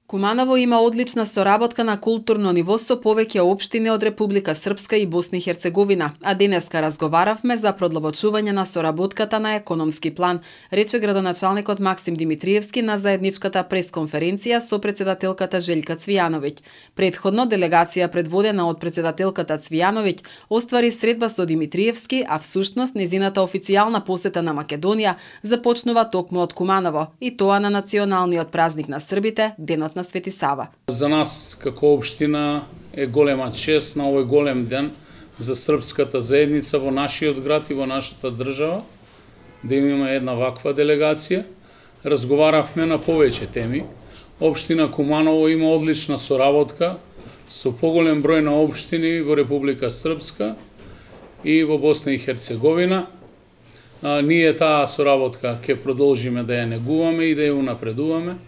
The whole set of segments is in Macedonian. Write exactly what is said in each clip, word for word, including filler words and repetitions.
Куманово има одлична соработка на културно ниво со повеќе општини од Република Српска и Босна и Херцеговина, а денеска разговаравме за продлабочување на соработката на економски план, рече градоначалникот Максим Димитриевски на заедничката пресконференција со председателката Желјка Цвијановиќ. Предходно делегација предводена од председателката Цвијановиќ оствари средба со Димитриевски, а всушност незината официјална посета на Македонија започнува токму од Куманово, и тоа на националниот празник на србите, денот на Свети Сава. За нас како општина е голема чест на овој голем ден за српската заедница во нашиот град и во нашата држава да имаме една ваква делегација. Разговаравме на повеќе теми. Општина Куманово има одлична соработка со поголем број на општини во Република Српска и во Босна и Херцеговина. А, ние таа соработка ќе продолжиме да ја негуваме и да ја унапредуваме.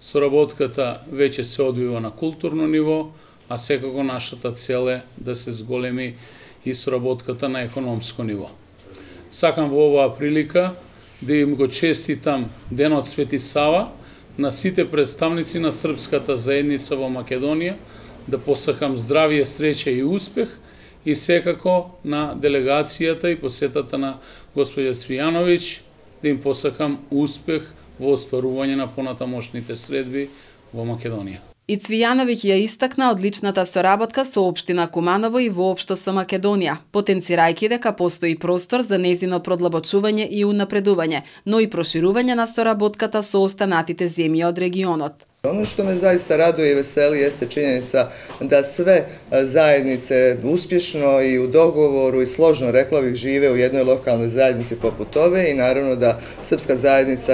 Соработката веќе се одвива на културно ниво, а секако нашата цел е да се зголеми и соработката на економско ниво. Сакам во оваа прилика да им го честитам денот Свети Сава на сите представници на српската заедница во Македонија, да посакам здравје, среќа и успех, и секако на делегацијата и посетата на господја Цвијановиќ да им посакам успех во остварување на понатамошните средби во Македонија. И Цвијановиќ ја истакна одличната соработка со општина Куманово и воопшто со Македонија, потенцирајќи дека постои простор за незино продлабочување и унапредување, но и проширување на соработката со останатите земји од регионот. Ono što me zaista raduje i veseli jeste činjenica da sve zajednice uspješno i u dogovoru i složno, rekla bih, žive u jednoj lokalnoj zajednici poput ove i naravno da srpska zajednica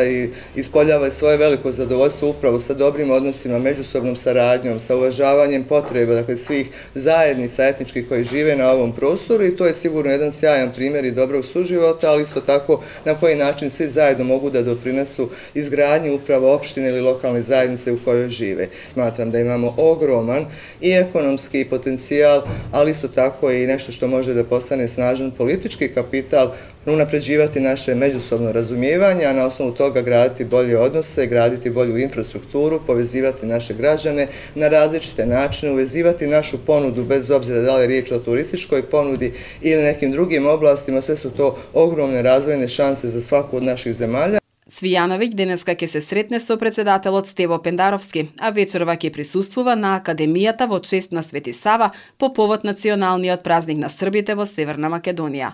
ispoljava svoje veliko zadovoljstvo upravo sa dobrim odnosima, međusobnom saradnjom, sa uvažavanjem potreba, dakle, svih zajednica etničkih koji žive na ovom prostoru, i to je sigurno jedan sjajan primjer i dobrog suživota, ali isto tako na koji način svi zajedno mogu da doprinesu izgradnji upravo opštine ili lokalne zajednice u kojoj žive. Smatram da imamo ogroman i ekonomski potencijal, ali isto tako i nešto što može da postane snažan politički kapital, unapređivati naše međusobno razumijevanje, a na osnovu toga graditi bolje odnose, graditi bolju infrastrukturu, povezivati naše građane na različite načine, uvezivati našu ponudu, bez obzira da li je riječ o turističkoj ponudi ili nekim drugim oblastima. Sve su to ogromne razvojne šanse za svaku od naših zemalja. Цвијановиќ денеска ќе се сретне со председателот Стево Пендаровски, а вечерва ќе присуствува на Академијата во чест на Свети Сава по повод националниот празник на србите во Северна Македонија.